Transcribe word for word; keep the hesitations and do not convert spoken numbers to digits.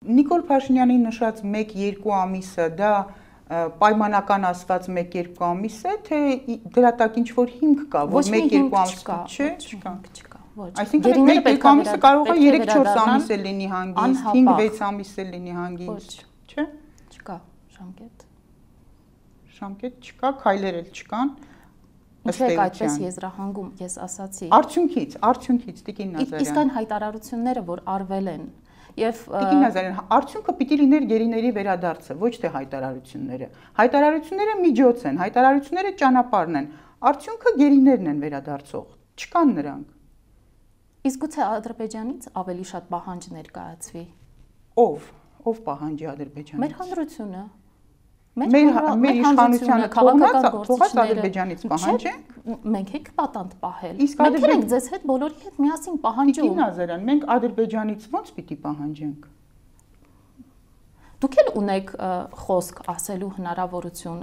Նիկոլ Փաշինյանի նշած մեկ-երկու ամիսը դա պայմանական ասված մեկ-երկու ամիս է, թե դրա տակ ինչ-որ հիմք կա, որ մեկ-երկու ամիս չէ, չկա։ Այսինքն մեկ-երկու ամիսը կարող է երեք-չորս ամիս է լինի հանգիստ, հինգ-վեց ամիս է լինի հանգիստ, չէ՞։ Չկա ժամկետ։ Ժամկետ չկա, քայլեր էլ չկան։ Ինչու եք այդպես եզրահանգում, ես ասացի։ Արդյունքից, արդյունքից Տիկին Նազարյան։ Իսկ այն հայտարարությունները, որ արվել են, եւ Տիկին Նազարյան, արդյունքը պիտի լիներ գերիների վերադարձը, ոչ թե հայտարարությունները։ Հայտարարությունները միջոց են, հայտարարությունները ճանապարհն են։ Արդյունքը գերիներն են վերադարձող, չկան նրանք։ Իսկ գուցե Ադրբեջանից ավելի շատ պահանջ ներկայացվի։ Ով, ով պահանջի Ադրբեջանից։ Մեր հանրությունը։ Մեր մեր իշխանությունը թողած Ադրբեջանից պահանջենք։ Մենք ենք պատանդ պահել։ Մենք ենք ձեզ հետ բոլորի հետ միասին պահանջում։ Տիկին Նազարյան, մենք Ադրբեջանից ո՞նց պիտի պահանջենք։ Դուք էլ ունեք խոսք ասելու հնարավորություն